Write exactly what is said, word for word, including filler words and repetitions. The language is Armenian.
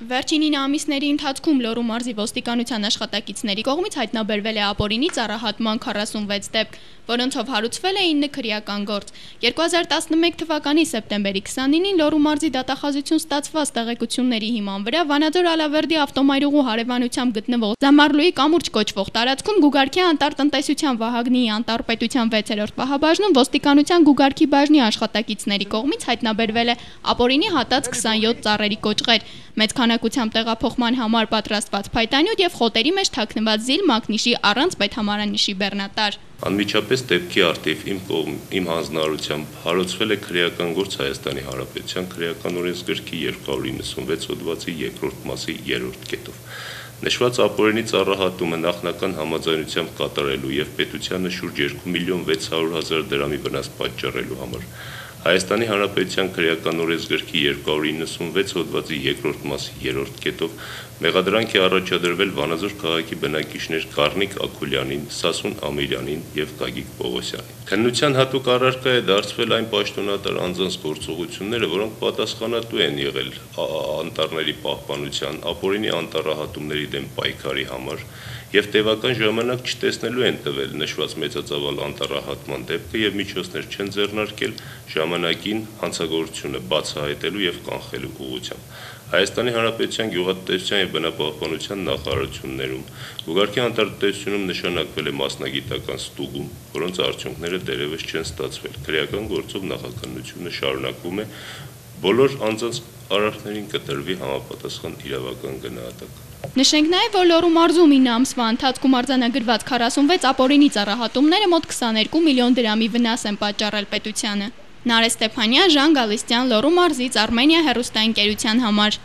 Վերջին ինը ամիսների ընթացքում Լոռու մարզի ոստիկանության աշխատակիցների կողմից հայտնաբերվել է ապօրինի ծառահատման քառասունվեց դեպք, որոնցով հարուցվել է ինը քրեական գործ։ երկու հազար տասնմեկ թվականի սեպտեմբերի քսանինին Լոռու մարզի դատախազություն ստացված տեղեկությունների հիման վրա Վանաձոր Ալավերդի ավտոմայրուղու հարևանությամբ գտնվող Զամարլուի կամուրջ կոչվող տարածքում Գուգարքի անտառ տնտեսության Վահագնի անտառպետության վեցերորդ պահաբաժնում ոստիկանության Գուգարքի բաժնի աշխատակիցների կողմից հայտնաբերվել է ապօրինի հատած քսանյոթ ծառերի կոճղեր, մեծ քանակությամբ տեղափոխման համար պատրաստված փայտանյութ եւ խոտերի մեջ թաքնված զիլ մակնիշի առանց պետհամարանիշի բեռնատար։ Անմիջապես դեպքի արդիվ իմ կողմ իմ հանձնարարությամբ հարուցվել է քրեական գործ Հայաստանի Հանրապետության քրեական օրենսգրքի երկու հարյուր իննսունվեց հոդվածի երկրորդ մասի երրորդ կետով։ Նշված ապօրինի ծառահատումը նախնական համաձայնությամբ կատարելու եւ պետությանը շուրջ երկու միլիոն վեց հարյուր հազար դրամի վնաս պատճառելու համար Հայաստանի Հանրապետության քրեական օրենսգրքի երկու հարյուր իննսունվեց հոդվածի երկրորդ մասի երրորդ կետով մեղադրանք է առաջադրվել Վանաձոր քաղաքի բնակիչներ Գառնիկ Աքուլյանին, Սասուն Ամիրյանին եւ Գագիկ Պողոսյանին։ Քննության հատուկ առարկա է դարձվել այն պաշտոնատար անձանց գործողությունները, որոնք պատասխանատու են եղել անտառների պահպանության, ապօրինի անտառահատումների դեմ պայքարի համար եւ տևական ժամանակ չտեսնելու են տվել նշված մեծածավալ անտառահատման դեպքը եւ միջոցներ չեն ձեռնարկել ժամանակին հանցագործությունը բացահայտելու եւ կանխելու ուղղությամբ։ Հայաստանի Հանրապետության գյուղատնտեսության եւ բնապահպանության նախարարություններում Գուգարքի անտառտնտեսությունում նշանակվել է մասնագիտական ստուգում, որոնց արդյունքները դեռևս չեն ստացվել։ Քրեական գործով նախաքննությունը շարունակվում է, բոլոր անձանց արարքներին կտրվի համապատասխան իրավական գնահատական։ Նշենք նաև, որ Լոռու մարզում ինը ամսվա ընթացքում արձանագրված քառասունվեց ապօրինի ծառահատումները մոտ քսաներկու միլիոն դրամի վնաս են պատճառել պետությանը։ Նարէ Ստեփանյան, Ժան Գալստյան, Լոռու մարզից Արմենիա հեռուստաընկերության համար։